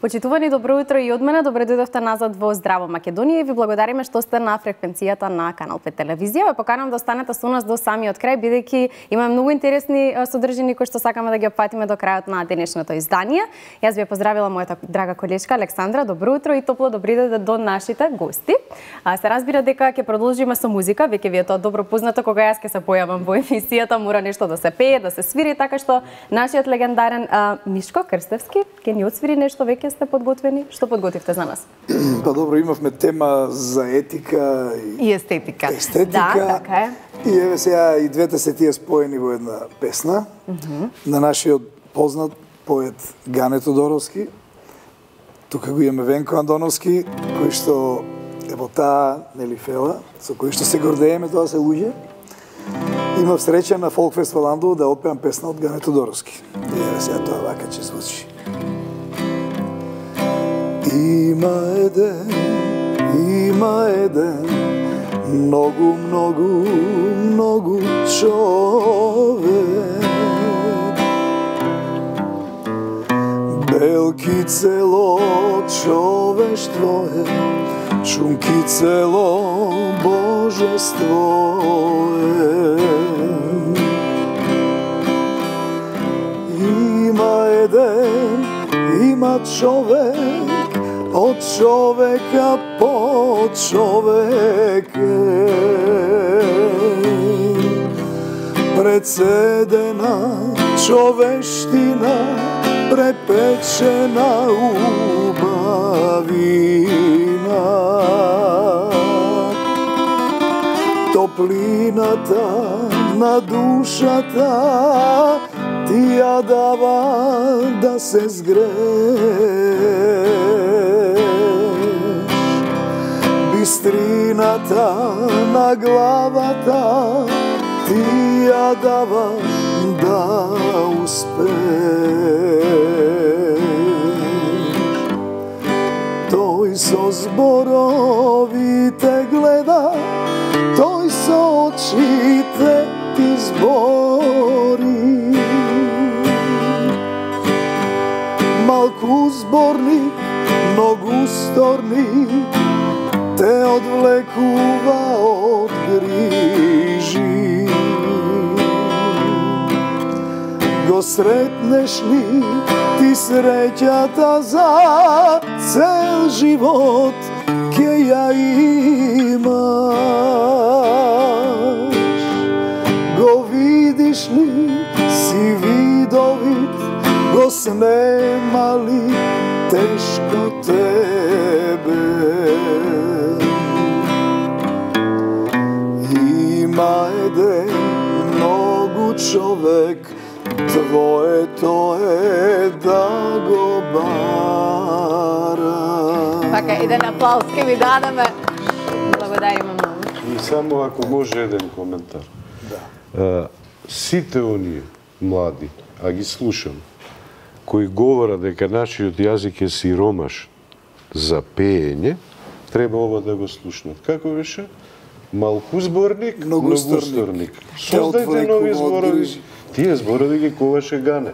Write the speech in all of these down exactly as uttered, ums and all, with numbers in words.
Почитувани, добро утро и од мене. Добре дојдовте назад во Здраво Македонија и ви благодариме што сте на фреквенцијата на Канал пет телевизија. Ве поканам да останете со нас до самиот крај, бидејќи има многу интересни содржини кои што сакаме да ги опфатиме до крајот на денешното издание. Јас ви поздравила мојата драга колешка Александра. Добро утро и топло добри дојде до нашите гости. А, се разбира дека ќе продолжиме со музика, веќе ви е тоа добро познато, кога јас ќе се појавам во емисијата, мора нешто да се пее, да се свири, така што нашиот легендарен а, Мишко Крстевски ќе ни отсвири нешто. Веќе сте подготвени? Што подготвивте за нас? Па добро, имавме тема за етика и, и естетика. Естетика. Да, така е. И еве сега и двете се тие споени во една песна mm -hmm. на нашиот познат поет Гане Тодоровски. Тука го имаме Венко Андоновски, кој што е во таа нели фела, со кој што се гордееме, тоа се луѓе. Имав среќа на Фолкфест во Ландово да опеам песна од Гане Тодоровски. И еве сега тоа вака ќе звучи. Има еден, има еден, многу, многу, многу човек. Белки цело човештво е, шумки цело божество е. Има еден, има човек, од човека по човек е. Председена човештина, препечена убавина. Топлината на душата ти ја дава да се згрееш. Бистрината на главата ти ја дава да успееш. Тој со зборовите гледа, тој со очите ти збори. Малку зборник, многу сторник, те одвлекува од грижи. Го сретнеш ли ти среќата за цел живот ќе ја имаш. Го видиш ли си видовит, го снема ли тешко тебе. Има еден многу човек, твоето е да го бара. Така, еден аплауз ке ви дадеме. Благодариме многу. И само ако може еден коментар. Да. А, сите оние млади, а ги слушам, кои говорат дека нашиот јазик е сиромаш за пеење, треба ова да го слушнат. Како беше? Малку зборник, многу сторник. Создајте нови зборови. Тие зборови ги коваше Гане.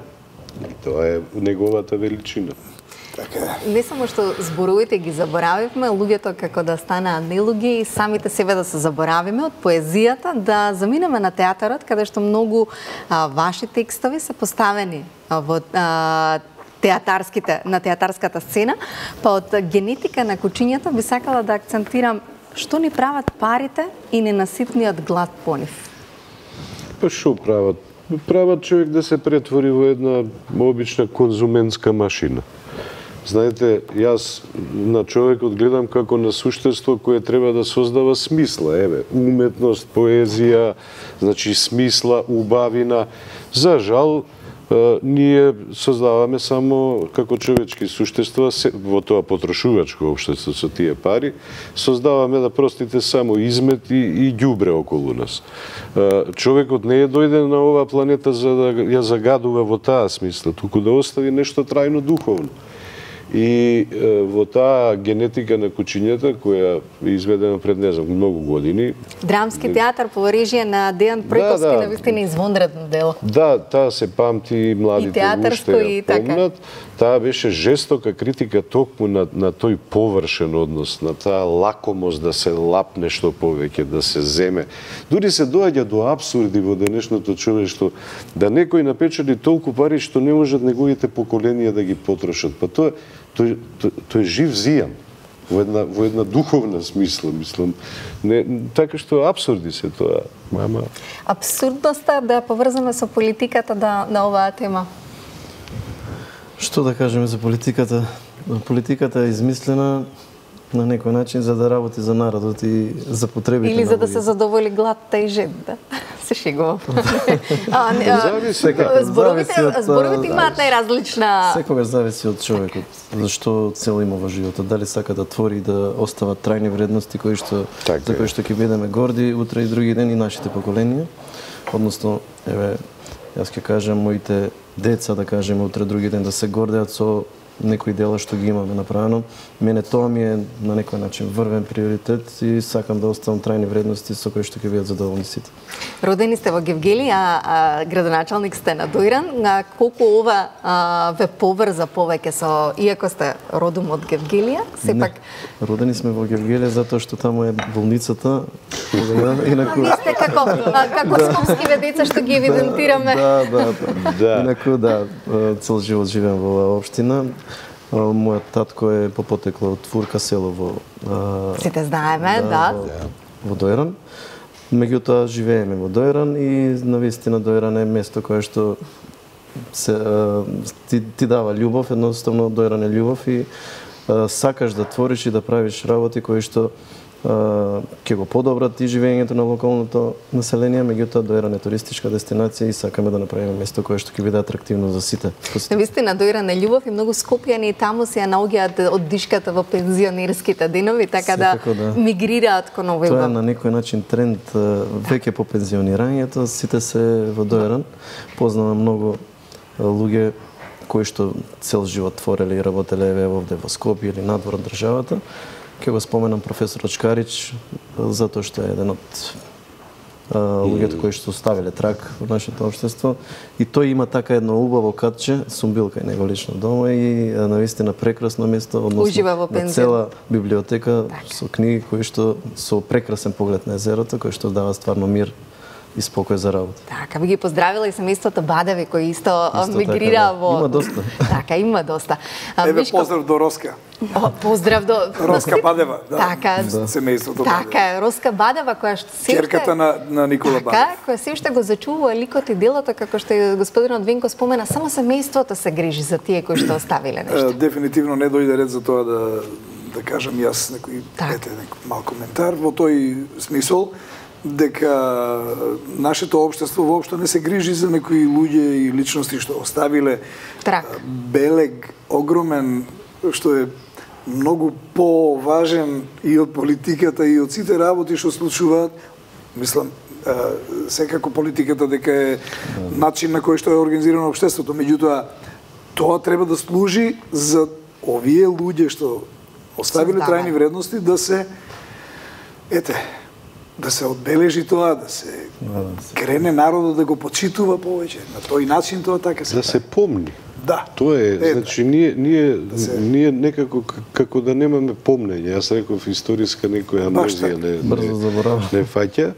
И тоа е неговата величина. Така. Не само што зборовите ги заборавивме, луѓето како да станеа нелуѓе и самите себе да се заборавиме од поезијата, да заминеме на театарот, каде што многу а, ваши текстови се поставени а, во а, театарските, на театарската сцена, па од генетика на кучињата би сакала да акцентирам што ни прават парите и ненаситниот глад по нив. Па што прават? Прават човек да се претвори во една обична конзументска машина. Знаете, јас на човекот гледам како на суштество кое треба да создава смисла. Еве, уметност, поезија, значи смисла, убавина. За жал, ние создаваме само како човечки суштества во тоа потрошувачко општество со тие пари, создаваме да простите само измет и, и ѓубре околу нас. Човекот не е дојден на оваа планета за да ја загадува во таа смисла, туку да остави нешто трајно духовно. И е, во таа генетика на кучињата, која е изведена пред, не знам, многу години. Драмски театар по режија на Дејан Пројковски, да, да, навистина извонредно дело. Да, таа се памти, младите уште ја помнат. Таа беше жестока критика токму на, на тој површен однос, на таа лакомост да се лапне што повеќе, да се земе. Дури се доаѓа до апсурди во денешното човештво, да некој напечали толку пари што не можат неговите поколенија да ги потрошат. Па тоа тој, тој, тој жив зијам во една во една духовна смисла, мислам. Не, така што апсурди се тоа, мама. Апсурдноста да поврзаме со политиката да на оваа тема. Што да кажеме за политиката? Политиката е измислена на некој начин за да работи за народот и за потребите. Или за да се задоволи гладта и жедда. Се шегувам. Зборовите зборовите имаат најразлична. Секогаш зависи од човекот. Зашто цел има во животот. Дали сака да твори да остават трајни вредности кои што так, за кои што ќе бидеме горди утре и други ден и нашите поколенија. Односно, еве, јас ќе кажам моите деца, да кажеме, утре други ден да се гордеат со некои дела што ги имаме направено. Мене тоа ми е на некој начин врвен приоритет и сакам да оставам трајни вредности со кои што ќе бидат задоволни сите. Родени сте во Гевгели, а, а градоначалник сте на Дојран. А, колку ова а, ве поврза повеќе со, иако сте родом од Гевгелија, сепак... Не, родени сме во Гевгелија затоа што таму е болницата. Инаку... А, сте како, а, како скопскиве деца што ги евидентираме. Да, да, да. да. Инаку, да, цел живот живеам во оваа општина. Мојот татко е по потекло од Фурка село во... Сите знаеме, да. да. Во, во Дојран. Меѓутоа живееме во Дојран и навистина Дојран е место кое што се, ти, ти дава љубов, едноставно Дојран е љубов и а, сакаш да твориш и да правиш работи кои што ќе го подобрат и живењето на локалното население, меѓутоа Дојран е туристичка дестинација и сакаме да направиме место кое што ќе биде атрактивно за сите. Навистина Дојран е љубов и многу скопјани таму се ја наоѓаат од дишката во пензионерските денови, така да, да мигрираат кон овој. Тоа е на некој начин тренд веќе по пензионирањето, сите се во Дојран. Познавам многу луѓе кои што цел живот твореле и работеле еве овде во Скопје или надвор од државата. Ке го споменам професорот Шкарич, затоа што е еден од луѓето кои што оставиле трак во нашето општество. И тој има така едно убаво катче, сум бил кај него лично дома и навистина прекрасно место, односно на цела библиотека со книги кои што со прекрасен поглед на езерото, кои што дава стварно мир и спокој за работа. Така, би ги поздравила и семејството Бадеви кои исто, исто мигрира така, да. во... Има доста. Така, има доста. Еве Мишко... поздрав до Роска. О, поздрав до... Роска Бадева, да. Така, да. Семејството Бадеви. Така, Роска Бадева, која што се Черката на, на Никола така, Бадев. Која се уште го зачува ликот и делото, како што и господинот Венко спомена, само семејството се грижи за тие кои што оставиле нешто. Дефинитивно не дојде ред за тоа да да кажам јас некој ете некој мал коментар во тој смисол дека нашето општество воопшто не се грижи за некои луѓе и личности што оставиле трак. Белег огромен што е многу поважен и од политиката и од сите работи што случуваат. Мислам, секако политиката дека е начин на кој што е организирано општеството, меѓутоа тоа треба да служи за овие луѓе што оставиле трајни вредности да се ете да се одбележи тоа, да се крене народот да го почитува повеќе. На тој начин тоа така се да се помни. Да. Тоа е, е значи ние ние да се... ние некако како да немаме помнење. Јас реков историска некоја амнезија не брзо заборавам. Не фаќа.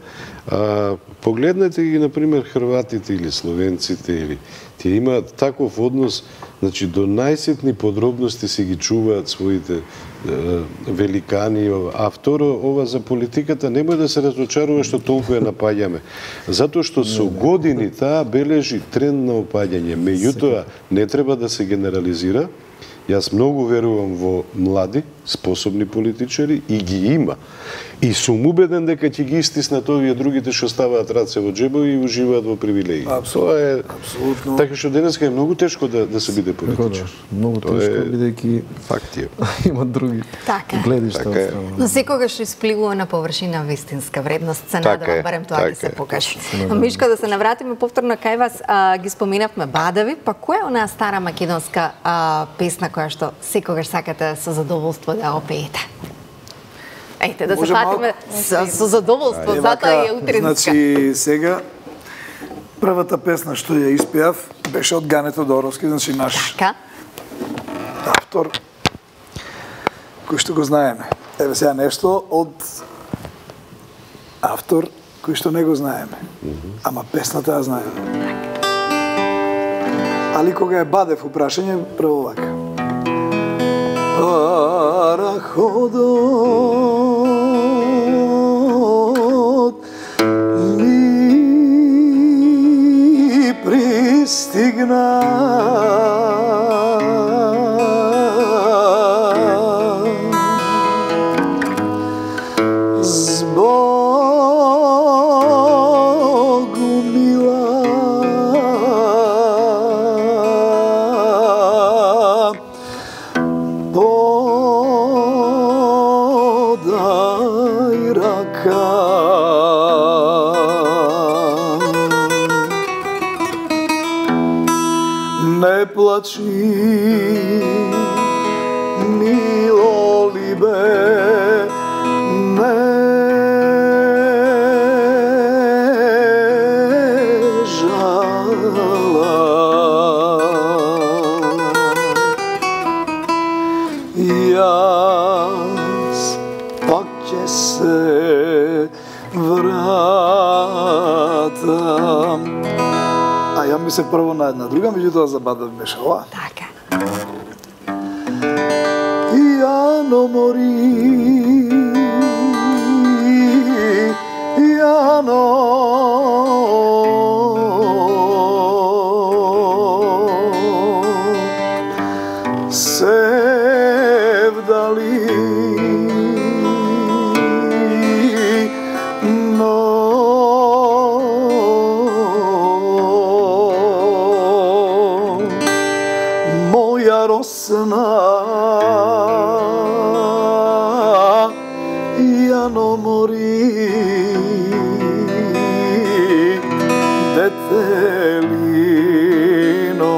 А погледнете ги на пример хрватите или словенците или тие имаат таков однос, значи до најситни подробности се ги чуваат своите великани, а второ, ова за политиката немој да се разочарува што толку ја напаѓаме. Затоа што со години таа бележи тренд на опаѓање. Меѓутоа, не треба да се генерализира. Јас многу верувам во млади, способни политичари и ги има. И сум убеден дека ќе ги истиснат овие другите што ставаат раце во џебови и уживаат во привилегии. Тоа е апсолутно. Така што денеска е многу тешко да да се биде политичар. Да, многу тешко бидејќи факт е. Има други така. гледишта така е. Но секогаш испливува на површина вистинска вредност, се така надевам барем тоа така ќе се е. покаже. Мишка, да се навратиме повторно кај вас, а, ги споминавме Бадави, па која е онаа стара македонска а, песна која што секогаш сакате со задоволство да опеете? Ејте, да се фатиме со, со задоволство, затоа е утринска. Значи, сега, првата песна што ја испеав беше од Гане Тодоровски, значи наш Така? автор, кој што го знаеме. Еве сега нешто од автор кој што не го знаеме. Ама песната ја знаеме. Али кога е Бадев упрашање, прво вака. Параходот ми пристигна Збогу мила подај рака не плачи мило либе не Јас пак ќе се вратам. А ја мислев прво на една друга, меѓутоа за Бадев беше ова. Така. Јано мори, Јано се вдали, но моја росна Јано мори, детелино.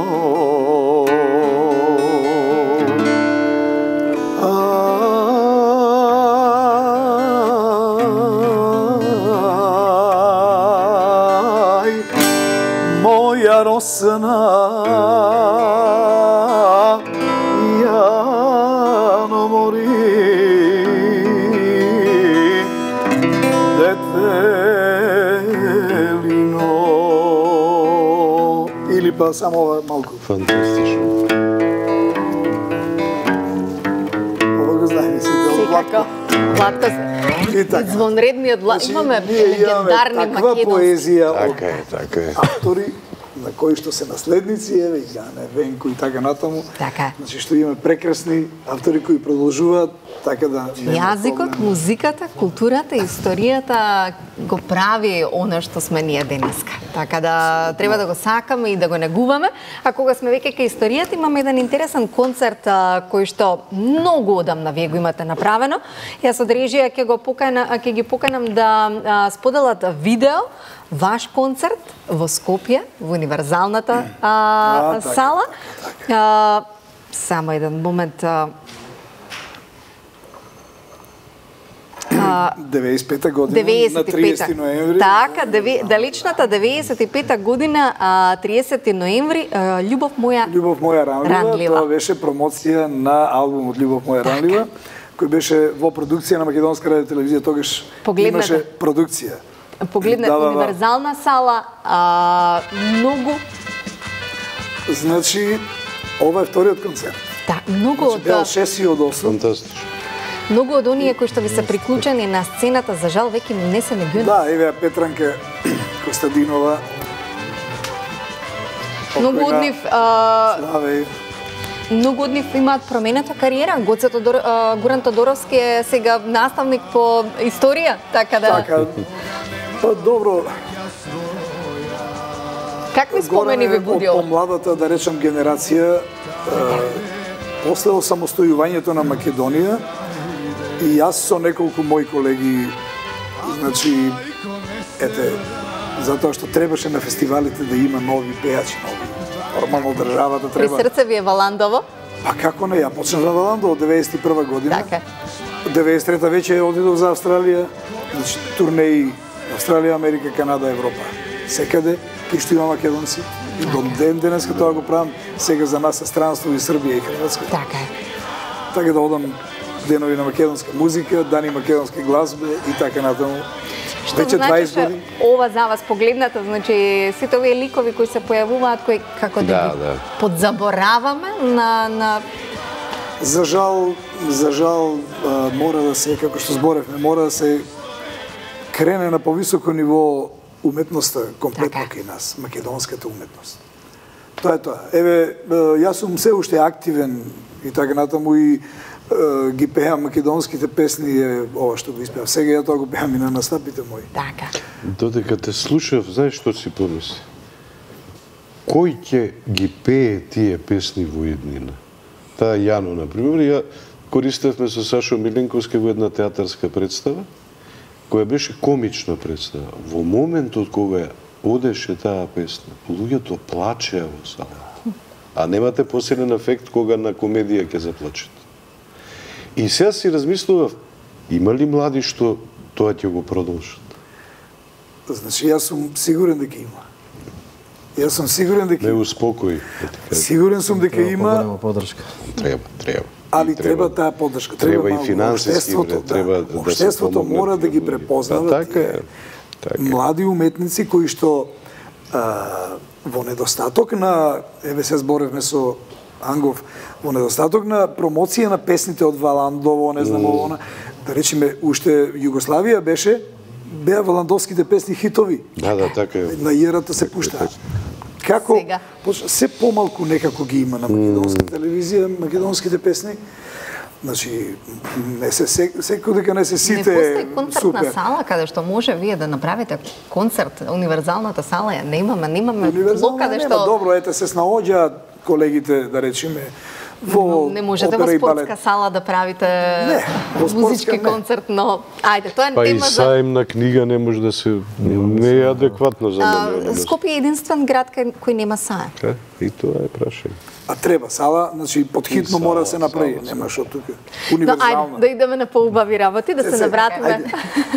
Моја росна Јано мори, детелино. Или па само ова малку. Фантастично. Ова го знаеме сите од Секако. Владко, И така. извонредниот Влад. Значи, Имаме ние имаме легендарни таква македонски. поезија од Така е, така е. автори на кои што се наследници, еве и Гане, Венко и така натаму. Така. Значи што имаме прекрасни автори кои продолжуваат така да нема Јазикот, проблем. музиката, културата, историјата го прави она што сме ние денеска. Така да треба да го сакаме и да го негуваме. А кога сме веќе кај историјата, имаме еден интересен концерт а, кој што многу одамна вие го имате направено. Јас од режија ќе го покана, ќе ги поканам да а, споделат видео ваш концерт во Скопје, во универзалната а, А, така, сала. А, само еден момент. А, деветдесет и пета година на деветдесет и пета. триесети ноември. Така, деве, далечната деветдесет и пета година, а, триесети ноември, а, Љубов моја Љубов моја ранлива, Ранлива. тоа беше промоција на албумот Љубов моја ранлива, кој беше во продукција на Македонска радио телевизија, тогаш Погледнете. имаше продукција. погледне Да, да, да. универзална сала, а, многу, Значи, ова е вториот концерт. да, многу Значи, од беа шест и од осум. Фантастично. многу од оние кои што ви се приклучени на сцената, за жал веќе не се меѓу нас. Да, еве Петранка Костадинова. Многу од покојна нив а, Славе. многу од нив имаат променета кариера. Гоце Тодор, а, Гуран Тодоровски е сега наставник по историја, така да... Така, па добро, Какви спомени ви буди од ова? помладата, да речем, генерација, е, после осамостојувањето на Македонија, и јас со неколку мои колеги, значи, ете, затоа што требаше на фестивалите да има нови пејачи, нови. Нормално државата При треба... срце ви е Валандово? Па како не, ја почнав на Валандово деветдесет и прва година. Така. деветдесет и трета веќе одидов за Австралија, значи турнеи Австралија, Америка, Канада, Европа. Секаде, кај што има македонци. И до ден денеска тоа го правам. Сега за нас е странство и Србија и Хрватска. Така е. Така да одам денови на македонска музика, дани македонски глазбе и така натаму. Што Веќе значи дваесет што години. ова за вас погледнато, значи сите овие ликови кои се појавуваат, кои како да, Да, ги да. подзабораваме на на За жал, за жал а, мора да се, како што зборевме, мора да се крене на повисоко ниво уметноста комплетно Така. кај нас, македонската уметност. Тоа е тоа. Еве, а, јас сум се уште активен и така натаму и а, ги пеам македонските песни, е ова што го испеав. Сега ја тоа го пеам и на настапите мои. така. Додека те слушав, знаеш што си помисли? Кој ќе ги пее тие песни во иднина? Таа Јано, например, ја користевме со Сашо Милинковски во една театарска представа, која беше комична представа. Во моментот кога одеше таа песна, луѓето плачеа во сала. А немате посилен ефект кога на комедија ќе заплачете. И сега си размислував, има ли млади што тоа ќе го продолжат? Значи, јас сум сигурен дека има. Јас сум сигурен дека Не има. успокои, да ти кажам. Сигурен сум дека има, Поголема подршка. Треба, треба. али И треба таа поддршка. Треба и малку. финансиски, Општеството, бре, треба да. да се Општеството помогне мора да тие ги луѓе. препознават Да, така е. тие Така е. млади уметници кои што а, во недостаток на, еве се зборевме со Ангов, во недостаток на промоција на песните од Валандово, не знам ово, она, да речеме, уште Југославија беше, беа валандовските песни хитови. Да, да, така е. На јерата се пуштаа. Како Сега. поч- се помалку некако ги има на македонска телевизија македонските песни. Значи не се се- секој дека не се Не сите постои концертна супер. сала каде што може вие да направите концерт, универзалната сала ја немаме, немаме Универзално блок каде нема, што добро, ете се снаоѓаат колегите, да речеме, во не можете опера во и балет. спортска сала да правите Не, во спортска музички не. концерт, но ајде, тоа е Па и тема за саем на книга не може да се... Не е адекватно за А, мене. Скопје е единствен град кај кој нема саем. Е, И тоа е прашање. А треба сала, значи подхитно И мора да се сала, направи, сала, нема што тука. Но Универзална. ајде, да идеме на поубави работи, да се Се, навратиме.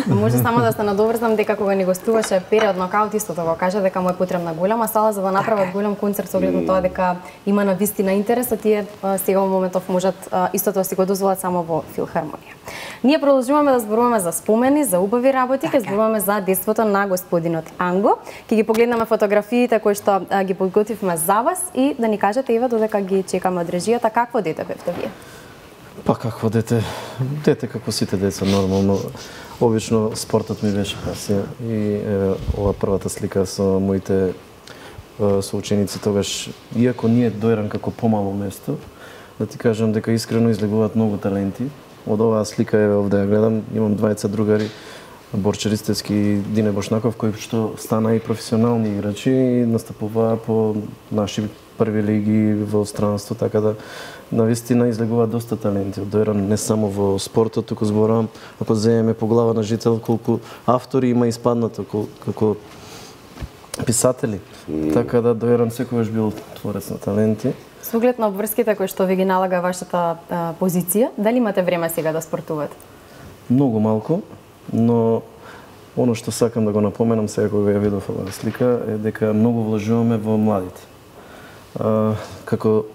Може само да се надоврзам дека кога ни гостуваше Период Нокаут истото го кажа дека му е потребна голема сала за да направат голем концерт со оглед на тоа дека има на вистина интерес, а тие а, сега во моментов можат а, истото да си го дозволат само во филхармонија. Ние продолжуваме да зборуваме за спомени, за убави работи, ќе зборуваме за детството на господинот Анго. Ќе ги погледнеме фотографиите кои што а, ги подготвивме за вас и да ни кажете Ива додека ги чекаме од режијата какво дете бевте вие. Па какво дете? Дете како сите деца, нормално. Обично спортот ми беше пасија и еве ова првата слика со моите е, соученици тогаш, иако ние дојран како помало место, да ти кажам дека искрено излегуваат многу таленти. Од оваа слика еве овде ја гледам, имам двајца другари, Борче Ристевски и Дине Бошнаков, кои што стана и професионални играчи и настапуваа по наши први лиги во странство, така да навистина излегуваат доста таленти. Дојран не само во спортот, туку зборувам, ако земеме по глава на жител колку автори има испаднато кол- како писатели. Така да Дојран секогаш бил творец на таленти. Со оглед на обврските кои што ви ги налага вашата а, позиција, дали имате време сега да спортувате? Многу малку, но оно што сакам да го напоменам сега кога ја видов оваа слика е дека многу вложуваме во младите. А, како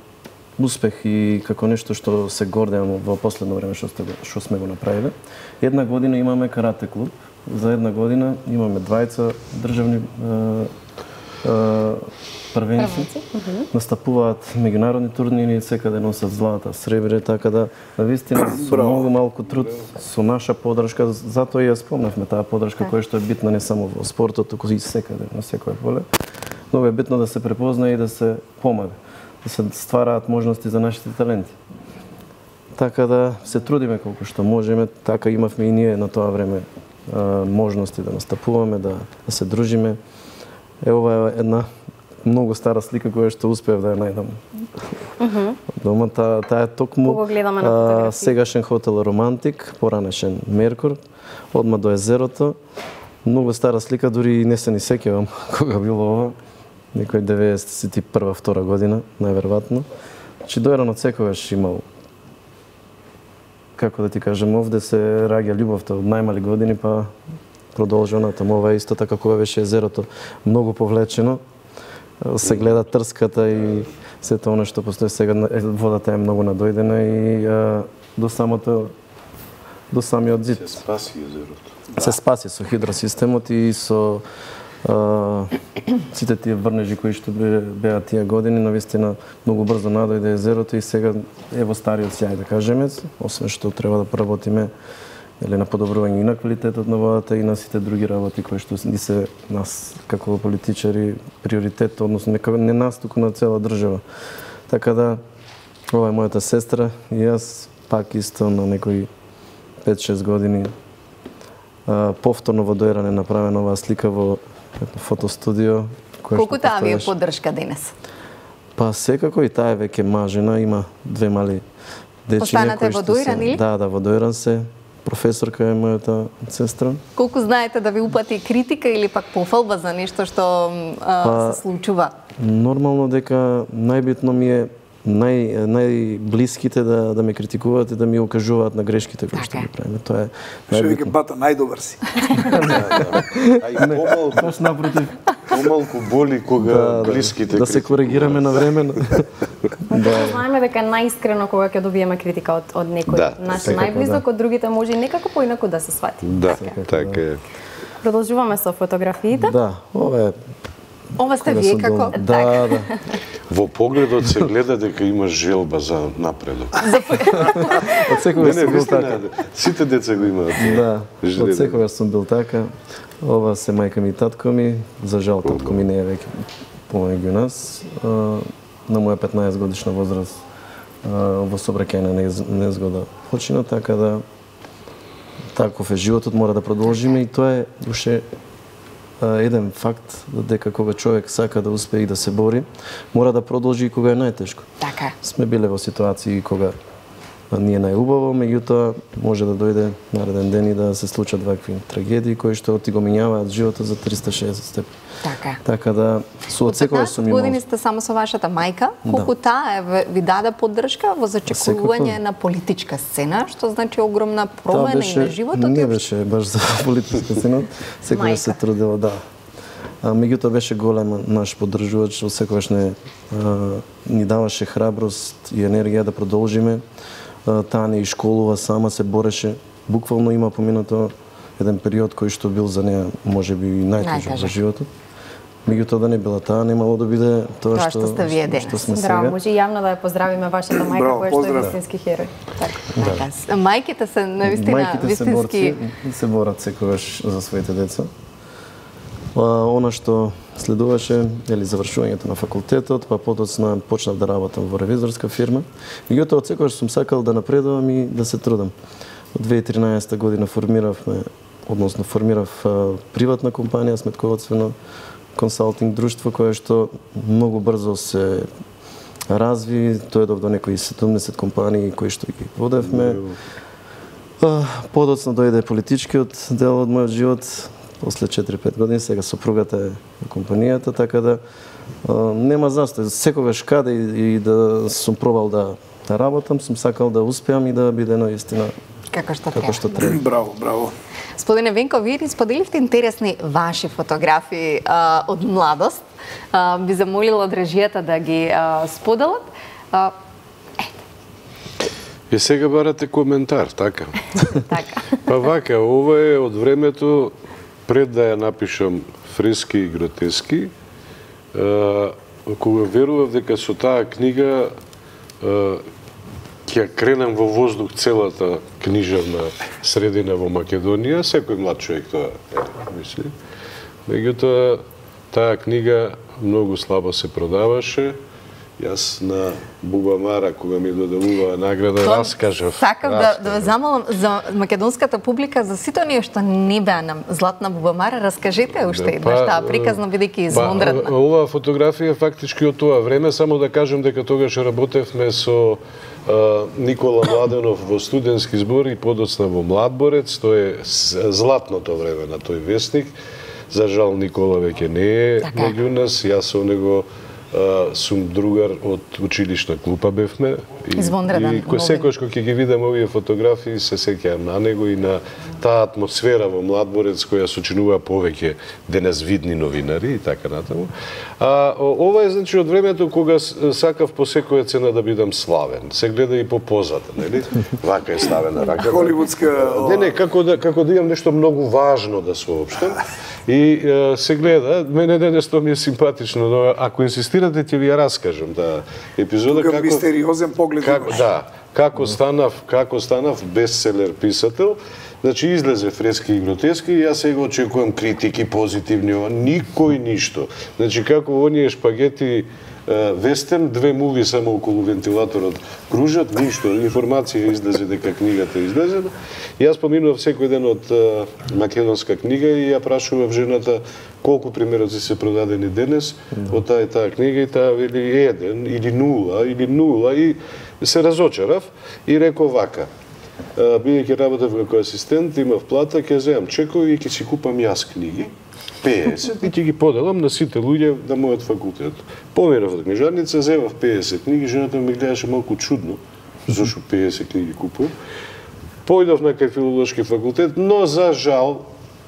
успех и како нешто што се гордеам во последно време што, сте, го- што сме го направиле. Една година имаме карате клуб, за една година имаме двајца државни а, а, првенци, настапуваат меѓународни турнири, секаде носат злата, сребре, така да навистина со многу малку труд, со наша поддршка, затоа и ја спомнавме таа поддршка која што е битна не само во спортот, туку и секаде, на секој поле. Многу е битно да се препозна и да се помага. да се ствараат можности за нашите таленти. Така да се трудиме колку што можеме, така имавме и ние на тоа време можности да настапуваме, да, да се дружиме. Е, ова е една многу стара слика која што успеав да ја најдам. Mm-hmm. Дома, таа, таа е токму а, сегашен хотел Романтик, поранешен Меркур, одма до езерото. Многу стара слика, дури не се ни сеќавам кога било ова. Некој деветдесет и прва втора година, најверојатно. Значи, Дојран од секогаш имал, како да ти кажем, овде се раѓа љубовта од најмали години, па продолжува натаму. Ова исто така кога беше езерото многу повлечено, се гледа трската и сето оно што постои сега, водата е многу надојдена и а, до самото до самиот зид. Се спаси езерото. Се спаси со хидросистемот и со а, сите тие врнежи кои што беа тие години, навистина многу брзо надојде езерото и сега е во стариот сјај, да кажеме, освен што треба да поработиме или на подобрување и на квалитетот на водата и на сите други работи кои што ни се нас како политичари приоритет, односно нека не нас, туку на цела држава. Така да ова е мојата сестра и јас пак исто на некои пет-шест години а, повторно во Дојран е направена оваа слика во фотостудио. Колку таа ви е поддршка денес? Па секако и таа е веќе мажена, има две мали дечиња. Останате во Дојран или? Да, да, во Дојран се. Професорка е мојата сестра. Колку знаете да ви упати критика или пак пофалба за нешто што а, па, се случува? Нормално дека најбитно ми е нај најблиските да да ме критикуваат и да ми укажуваат на грешките кои што ги правиме. Тоа е најбитно. Што бата најдобар си. Ај помалку, баш напротив. Помалку боли кога да, блиските да се коригираме на време. Да. Знаеме дека најискрено кога ќе добиеме критика од од некој да, наш најблизок, да. Од другите може и некако поинаку да се свати. Да, така е. Продолжуваме со фотографиите. Да, ова е Ова сте вие како? Да, да. Во погледот се гледа дека имаш желба за напредок. Од секогаш сум бил така. Сите деца го имаат. Да, од секогаш сум бил така. Ова се мајка ми и татко ми. За жал татко ми не е веќе помеѓу нас. На моја петнаесет годишна возраст во сообраќајна незгода почина, така да таков е животот, мора да продолжиме и тоа е уште еден факт дека кога човек сака да успее и да се бори, мора да продолжи и кога е најтешко. Така. Сме биле во ситуации кога ни е најубаво, меѓутоа може да дојде нареден ден и да се случат вакви трагедии кои што ти го минјаваат животот за триста и шеесет степени. Така. Така да со од секогаш сум имал. Години сте само со вашата мајка, колку да. Таа ви даде поддршка во зачекување на политичка сцена, што значи огромна промена беше, и на животот. Не беше баш за политичка сцена, секогаш се трудела, да. А, меѓутоа беше голем наш поддржувач, секогаш не а, ни даваше храброст и енергија да продолжиме. А, таа не школува сама, се бореше. Буквално има поминато еден период кој што бил за неа можеби и најтежок во животот. Меѓутоа да не била таа, немало да биде тоа, тоа што, што сте вие денес. Што сме Браво, сега. може јавно да ја поздравиме вашата мајка која што е вистински херој. Така. Да. Мајките се навистина вистински се, се борат секогаш за своите деца. А, она што следуваше или завршувањето на факултетот, па потоцна почнав да работам во ревизорска фирма. Меѓутоа од секогаш сум сакал да напредувам и да се трудам. Од две илјади и тринаесета година формиравме, односно формирав а, приватна компанија, сметководствено консалтинг друштво кое што многу брзо се разви, дојдов до некои седумдесет компании кои што ги водевме. Подоцна дојде политичкиот дел од мојот живот, после четири-пет години, сега сопругата е на компанијата, така да а, нема застој. Секогаш каде и, и да сум пробал да, да работам, сум сакал да успеам и да биде наистина како што како што треба. Браво, браво. Господине Венко, вие ни споделивте интересни ваши фотографии а, од младост. А, би замолила од режијата да ги а, споделат. А, И сега барате коментар, така? така. Па вака, ова е од времето пред да ја напишам фрески и гротески, а, кога верував дека со таа книга а, ќе кренам во воздух целата книжевна средина во Македонија, секој млад човек тоа е, мисли. Меѓутоа, таа книга многу слабо се продаваше Јас на Бубамара, кога ми доделува награда, Тоа раскажав. Сакав да, да ве замолам за македонската публика, за сите оние што не беа на Златна Бубамара, раскажете уште еднаш таа приказна, бидејќи извонредна. Па, оваа фотографија фактички од тоа време, само да кажем дека тогаш работевме со а, Никола Младенов во студентски збор и подоцна во Младборец, тоа е златното време на тој вестник. За жал Никола веќе не е меѓу нас, јас со него Uh, сум другар од училишна клупа бевме. Извонреден. И кој секојаш кога ќе ги видам овие фотографии, се сеќавам на него и на таа атмосфера во Младборец која сочинува повеќе денес видни новинари и така натаму. А ова е значи од времето кога сакав по секоја цена да бидам славен. Се гледа и по позата, нели? Вака е ставена рака. Холивудска. Не, не, како да како да имам нешто многу важно да соопштам. И е, се гледа, мене денес тоа ми е симпатично, но ако инсистирате ќе ви ја раскажам таа епизода како мистериозен поглед како, да, како станав, како станав бестселер писател. Значи излезе Фрески и гротески и јас сега очекувам критики позитивни, никој ништо. Значи како оние шпагети вестерн, две муви само околу вентилаторот кружат, ништо, информација излезе дека книгата е излезена. Јас поминував секој ден од македонска книга и ја прашував жената колку примероци се продадени денес од таа и таа книга и таа вели еден или нула или нула и се разочарав и реков вака. Бидејќи работев како асистент, имав плата, ќе земам чекови и ќе си купам јас книги. педесет и ќе ги поделам на сите луѓе на мојот факултет. Поминав од книжарница, земав педесет книги, жената ми гледаше малку чудно, зашто педесет книги купувам. Појдов на кај филолошки факултет, но за жал,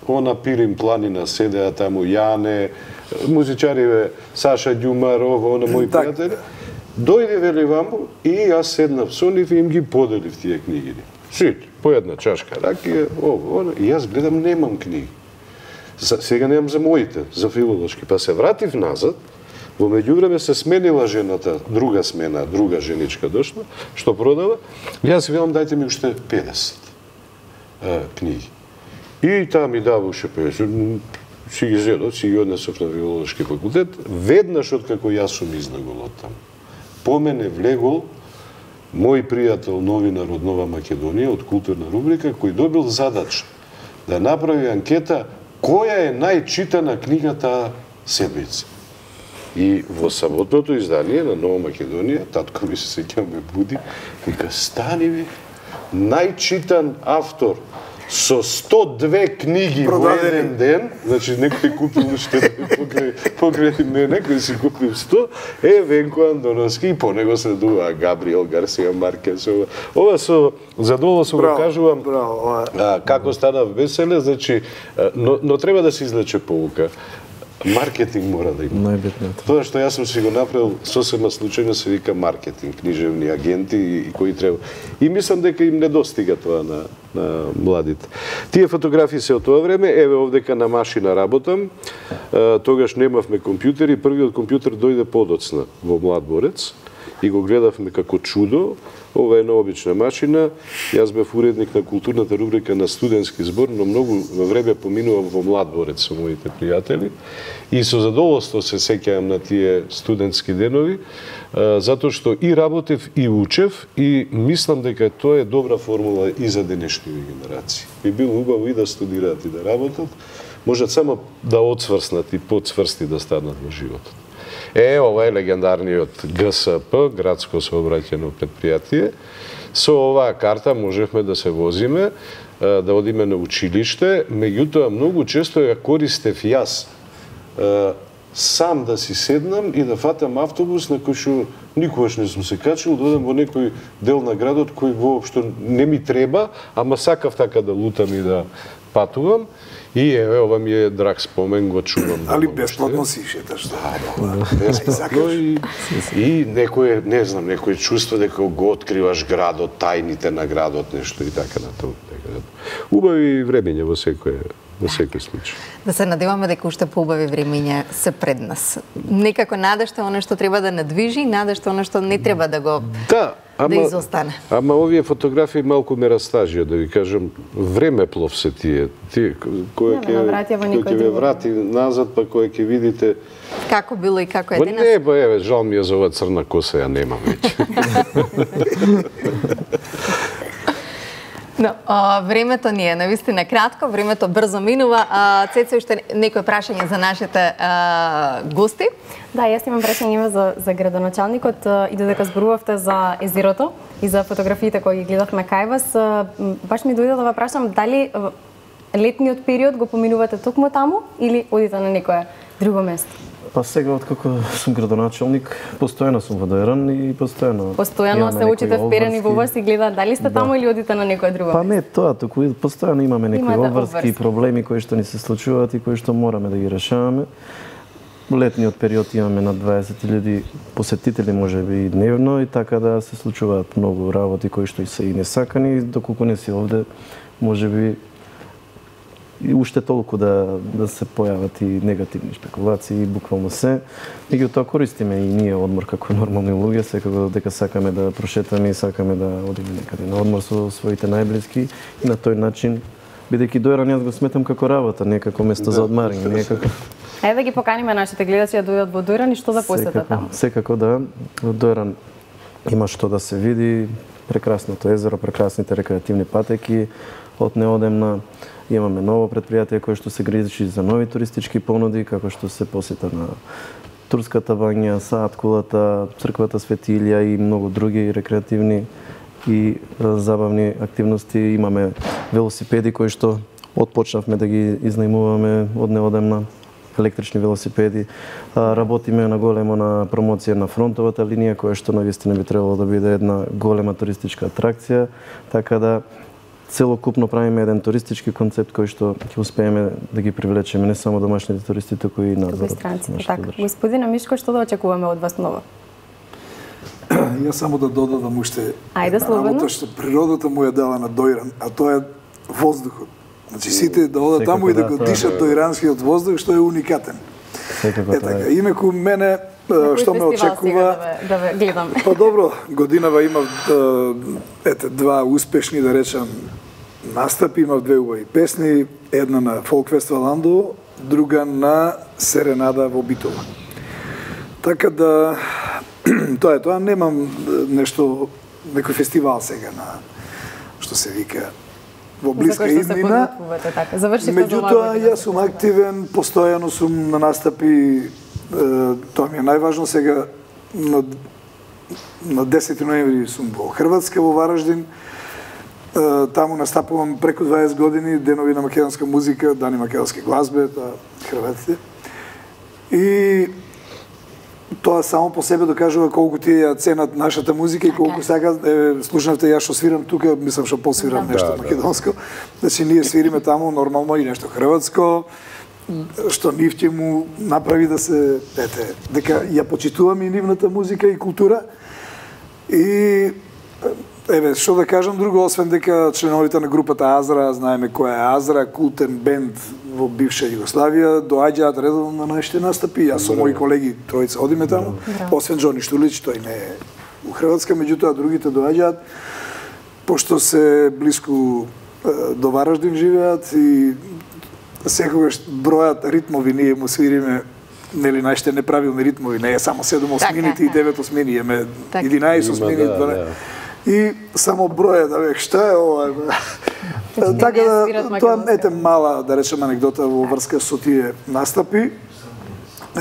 она Пирин планина седеа таму Јане, музичариве Саша Ѓумаров, она мои пријатели. Дојде вели ваму и јас седнав со нив и им ги поделив тие книги. Сите, по една чашка ракија, ово, она, и јас гледам немам книги. Сега немам за моите, за филолошки. Па се вратив назад, во меѓувреме се сменила жената, друга смена, друга женичка дошла, што продава. Јас велам дајте ми уште педесет а, книги. И таа ми дава уште педесет. Си ги зедов, си ги однесов на филолошки факултет. Веднаш откако јас сум изнагол од таму. По мене влегол мој пријател новинар од Нова Македонија, од културна рубрика, кој добил задача да направи анкета која е најчитана книга таа седмица. И во саботното издание на Нова Македонија, татко ми се сеќавам ме буди, вика стани ви, најчитан автор со сто две книги во еден ден, значи некој купил уште покрај, покрај мене, кој си купил сто, е Венко Андоновски и по него следува Габриел Гарсија Маркес. Ова, ова со задоволство го кажувам, браво, а, како станав бестселер, значи, но, но треба да се извлече поука. Маркетинг мора да има. Најбитното. Тоа што јас сум си го направил сосема случајно се вика маркетинг, книжевни агенти и, и кои треба. И мислам дека им недостига тоа на, на младите. Тие фотографии се од тоа време, еве овдека на машина работам. Е, тогаш немавме компјутери, првиот компјутер дојде подоцна во Младборец и го гледавме како чудо. Ова е необична машина. Јас бев уредник на културната рубрика на студентски збор, но многу време поминував во Младборец со моите пријатели и со задоволство се сеќавам на тие студентски денови, затоа што и работев и учев и мислам дека тоа е добра формула и за денешните генерации. Би било убаво и да студираат и да работат, можат само да отсврснат и подсврсти да станат во животот. Е, ова е легендарниот ГСП, градско сообраќајно предпријатие. Со оваа карта можевме да се возиме, да одиме на училиште, меѓутоа многу често ја користев јас сам да си седнам и да фатам автобус на кој што никогаш не сум се качил, да одам во некој дел на градот кој воопшто не ми треба, ама сакав така да лутам и да патувам. И еве, ова ми е драг спомен, го чувам. Али бесплатно си шеташ, да? Бесплатно и, и некој, не знам, некој чувство дека го откриваш градот, тајните на градот, нешто и така натаму. Убави времења во секој во секој случај. Да се надеваме дека уште поубави времења се пред нас. Некако надежта оно што треба да надвижи, надежта оно што не треба да го... Да, да изостане. Ама овие фотографии малку ме растажија, да ви кажам, времеплов се тие. Тие кој ќе ќе ве врати назад, па кој ќе видите како било и како е денес. денес. Не, ба еве, жал ми е за оваа црна коса, ја немам веќе. Но, а, времето ни е навистина кратко, времето брзо минува. А, Цецо, уште некој прашање за нашите а, гости? Да, јас имам прашање за, за градоначалникот и додека зборувавте за езерото и за фотографиите кои ги гледавме кај вас, баш ми дојде да ве прашам дали летниот период го поминувате токму таму или одите на некое друго место? Па сега, откако сум градоначалник, постојано сум во Дојран и постојано... Постојано се учите вперени во вас и гледаат дали сте таму или одите на некое друго место? Па не тоа, туку постојано имаме некои обврски проблеми кои што ни се случуваат и кои што мораме да ги решаваме. Летниот период имаме на дваесет илјади посетители, можеби и дневно, и така да се случуваат многу работи кои што и се и несакани, доколку не си овде, можеби и уште толку да, да се појават и негативни шпекулации, буквално се. Меѓутоа користиме и ние одмор како нормални луѓе, секако дека сакаме да прошетаме и сакаме да одиме некаде на одмор со своите најблиски и на тој начин, бидејќи Дојран јас го сметам како работа, не како место за одмарање, не како... Ајде да ги поканиме нашите гледачи да дојдат во Дојран и што да посетат таму. Секако да, во Дојран има што да се види, прекрасното езеро, прекрасните рекреативни патеки, од неодемна. Имаме ново предпријатие кое што се грижи за нови туристички понуди, како што се посета на Турската бања, Саат кулата, црквата Свети Илија и многу други рекреативни и забавни активности. Имаме велосипеди кои што отпочнавме да ги изнајмуваме од неодемна, електрични велосипеди. Работиме на големо на промоција на фронтовата линија, која што навистина би требало да биде една голема туристичка атракција, така да целокупно правиме еден туристички концепт кој што ќе успееме да ги привлечеме не само домашните туристи, туку и надвор. Така, господине Мишко, што да очекуваме од вас ново? Јас само да додадам уште Ајде, слободно. Што природата му ја дала на Дојран, а тоа е воздухот. Значи сите да одат таму и да го дишат дојранскиот воздух, што е уникатен. Е така, инаку мене што ме очекува, да ве гледам. Па добро, годинава имав ете два успешни, да речам, настапи, имав две убави песни, една на Фолк Фестивал Андо, друга на Серенада во Битола. Така да тоа е тоа, немам нешто, некој фестивал сега на што се вика во блиска иднина. Така. Меѓутоа, јас сум активен, постојано сум на настапи, тоа ми е најважно сега, на, на десети ноември сум во Хрватска, во Вараждин, таму настапувам преку дваесет години, денови на македонска музика, дани македонски глазбе, тоа хрватите. И тоа само по себе докажува колку тие ја ценат нашата музика и колку сака, е, слушнавте јас што свирам тука, мислам што посвирам нешто да, македонско. Значи ние свириме таму нормално и нешто хрватско, што нив ќе му направи да се, ете, дека ја почитуваме и нивната музика и култура. И еве, што да кажам друго, освен дека членовите на групата Азра, знаеме која е Азра, култен бенд во бивша Југославија, доаѓаат редовно на нашите настапи. Јас со мои колеги тројца одиме таму, освен Џони Штулич, тој не е у Хрватска, меѓутоа другите доаѓаат, пошто се блиску до Вараждин живеат и секогаш бројат ритмови, ние му свириме нели нашите неправилни ритмови, не е само седум осмините и девет осмини, еме единаесет осмини, и само броја да век што е ова. Така да тоа ете мала, да речем, анекдота во врска со тие настапи.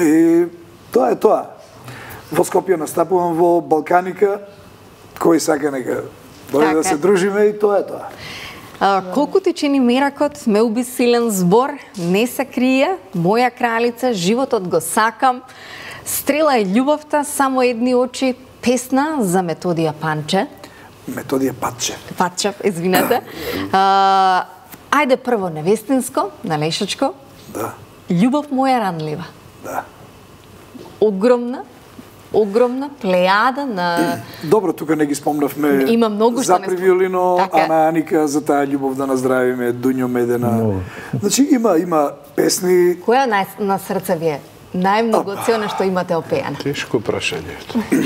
И тоа е тоа. Во Скопје настапувам во Балканика, кој сака нека дојде да се дружиме и тоа е тоа. А, колку ти чини меракот, ме уби силен збор, не се крие, моја кралица, животот го сакам, стрела е љубовта, само едни очи, песна за Методија Панче. Методија Патче. Патчев, извинете. А, ајде прво невестинско, на Лешачко. Да. Љубов моја ранлива. Да. Огромна, огромна плејада на... Добро, тука не ги спомнавме. Има многу што не спомнавме. За Привиолино, така. Ана Аника, за таа љубов да наздравиме, Дуњо Медена. No. Значи има има песни. Која на, на срце ви е? најмногу од се она што имате опеано? Тешко прашање.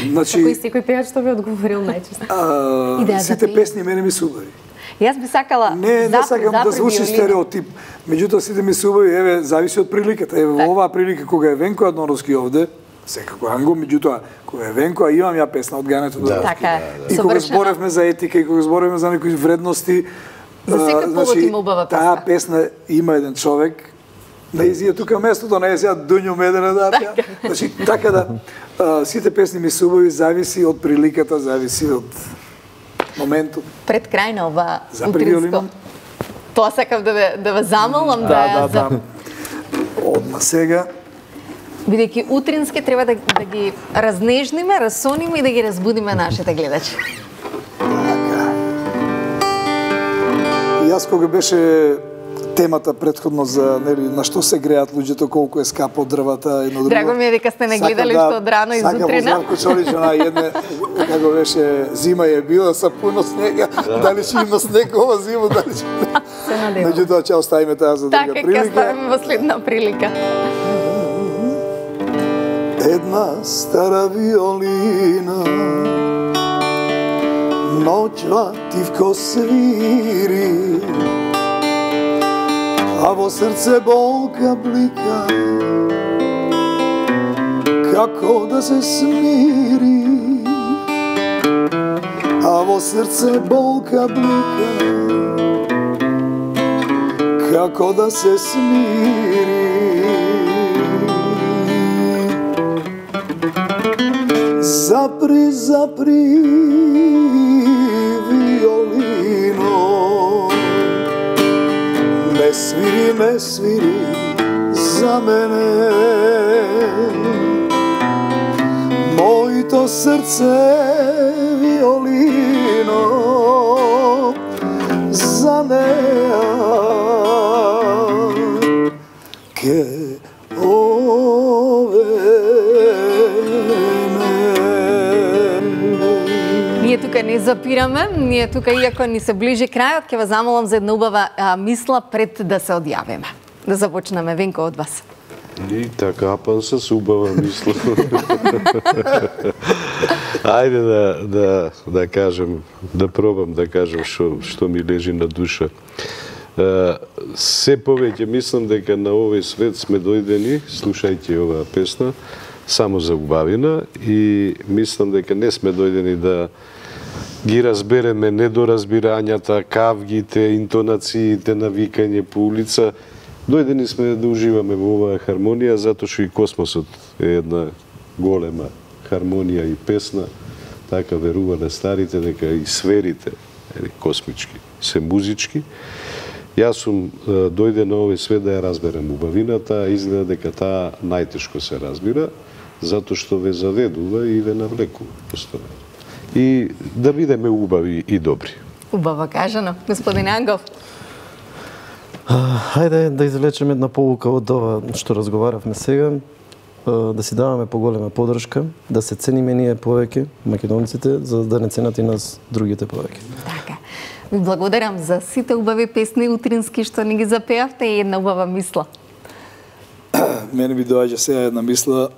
Значи, Кој секој пејач што ви одговорил најчесто? а, Идеја за сите пеење. песни мене ми се убави. Јас би сакала Не, не зап- сакам да запреди звучи Олина. стереотип. Меѓутоа сите ми се убави, еве, зависи од приликата. Еве, во оваа прилика кога е Венко Адоновски овде, секако Анго, меѓутоа кога е Венко, а имам ја песна од Гането Доровски. Така е, И кога совршено. зборевме за етика и кога зборевме за некои вредности, За секој а, повод има убава Таа песна. песна има еден човек, не изија тука местото, не е сега Дуњо Медена да пеа. Значи, така да, а, сите песни ми се убави, зависи од приликата, зависи од моментот. Пред крај на ова Запреди утринско. Олина? Тоа сакам да ве, да ве замолам да, Да, да, за- да. Одма сега. бидејќи утрински треба да, да ги разнежниме, разсониме и да ги разбудиме нашите гледачи. И јас кога беше темата претходно за нели на што се греат луѓето, колку е скапо дрвата, едно друго. Драго ми е дека сте не Сакам гледали да- што од рано и сакам зутрина. во Зарко Чолич, она едне, како беше, зима е била са пуно снега, дали ќе има снег ова зима, дали ќе... Се надевам. Меѓутоа, ќе оставиме таа за друга Така, ќе прилика. ставиме во следна прилика. Една стара виолина ноќва тивко свири, а во срце болка блика, како да се смири. А во срце болка блика, како да се смири. Запри, запри, виолино, ме свири, ме свири за мене. Моето срце, виолино, за неа ке Ние тука не запираме, ние тука, иако ни се ближи крајот, ќе ве замолам за една убава а, мисла пред да се одјавиме. Да започнеме, Венко, од вас. И така, пан се убава мисла. Ајде да, да, да кажем, да пробам да кажем што, што ми лежи на душа. Uh, се повеќе мислам дека на овој свет сме дојдени, слушајќи оваа песна, само за убавина и мислам дека не сме дојдени да ги разбереме недоразбирањата, кавгите, интонациите на викање по улица. Дојдени сме да уживаме во оваа хармонија, затоа што и космосот е една голема хармонија и песна. Така верувале старите дека и сферите, ели, космички, се музички. Јас сум дојде на овој свет да ја разберем убавината, а изгледа дека таа најтешко се разбира, затоа што ве заведува и ве навлекува постојано. И да бидеме убави и добри. Убаво кажано. Господин Ангов. Хајде да извлечеме една полука од ова што разговаравме сега, да си даваме поголема поддршка, да се цениме ние повеќе, македонците, за да не ценат и нас другите повеќе. Така. Ви благодарам за сите убави песни утрински што ни ги запеавте и една убава мисла. Мене ми доаѓа сега една мисла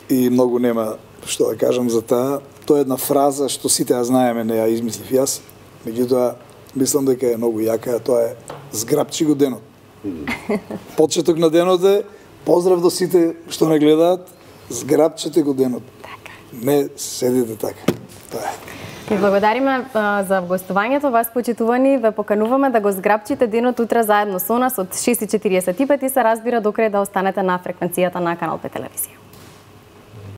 и многу нема што да кажам за таа. Тоа е една фраза што сите ја знаеме, не ја измислив јас. Меѓутоа, мислам дека е многу јака, тоа е зграпчи го денот. Почеток на денот е поздрав до сите што не гледаат, зграпчете го денот. Така. Не седите така. Тоа е. Ви благодариме а, за гостувањето, вас почитувани, ве покануваме да го зграпчите денот утре заедно со нас од шест и четириесет и пет и се разбира до крај да останете на фреквенцијата на Канал пет телевизија.